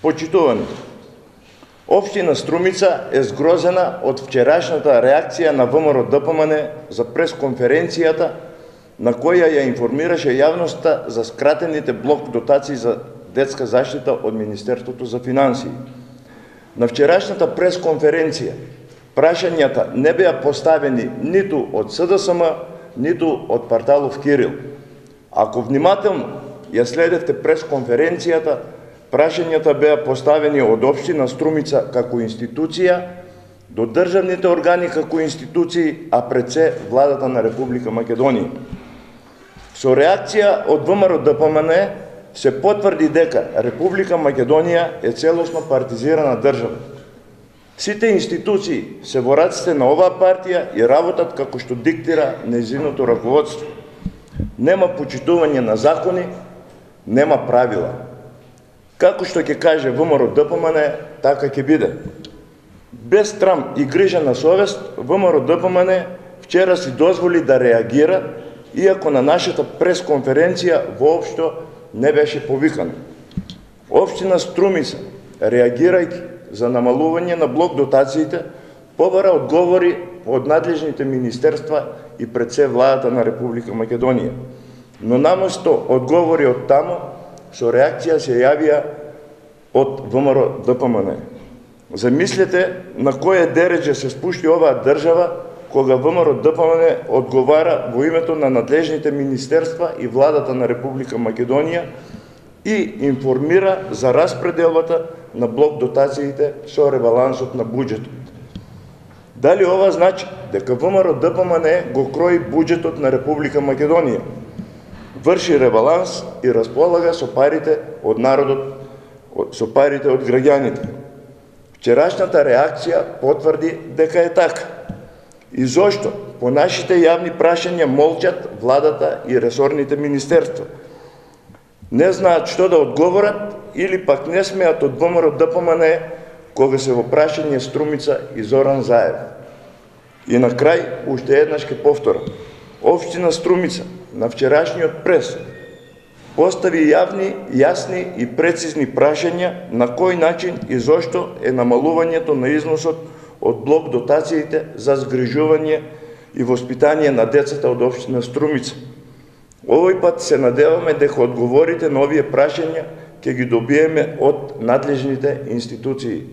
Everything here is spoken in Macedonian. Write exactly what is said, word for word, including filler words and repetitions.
Почитувани, Општина Струмица е згрозена од вчерашната реакција на ВМРО-ДПМН за пресконференцијата на која ја информираше јавноста за скратените блок дотации за детска заштита од Министерството за финансии. На вчерашната пресконференција прашањата не беа поставени ниту од СДСМ, ниту од Парталов Кирил. Ако внимателно ја следевте пресконференцијата, прашањата беа поставени од Општина Струмица како институција до државните органи како институции, а пред се владата на Република Македонија. Со реакција од ВМРО-ДПМН се потврди дека Република Македонија е целосно партизирана држава. Сите институции се во раците на оваа партија и работат како што диктира нејзиното раководство. Нема почитување на закони, нема правила. Како што ќе каже ВМРО-ДПМН, така ќе биде. Без трам и грижа на совест, ВМРО-ДПМН вчера си дозволи да реагира, иако на нашата пресконференција воопшто не беше повикана. Општина Струмица, реагирајќи за намалување на блок дотациите, побара одговори од надлежните министерства и пред се владата на Република Македонија. Но наместо одговори од таму, со реакција се јавија од ВМРО-ДПМН. Замислете на кој дередже се спушти оваа држава кога ВМРО-ДПМН одговара во името на надлежните министерства и владата на Република Македонија и информира за распределбата на блок дотациите со ребалансот на буџетот. Дали ова значи дека ВМРО-ДПМН го крои буџетот на Република Македонија, врши ребаланс и располага со парите од народот, со парите од граѓаните? Вчерашната реакција потврди дека е така. И зошто по нашите јавни прашања молчат владата и ресорните министерства? Не знаат што да одговорат или пак не смеат од ВМРО-ДПМН кога се во прашање Струмица и Зоран Заев? И на крај, уште еднаш ќе повторам. Општина Струмица на вчерашниот прес постави јавни, јасни и прецизни прашања на кој начин и зошто е намалувањето на износот од блок дотациите за згрижување и воспитание на децата од Општина Струмица. Овој пат се надеваме дека одговорите на овие прашања ќе ги добиеме од надлежните институции.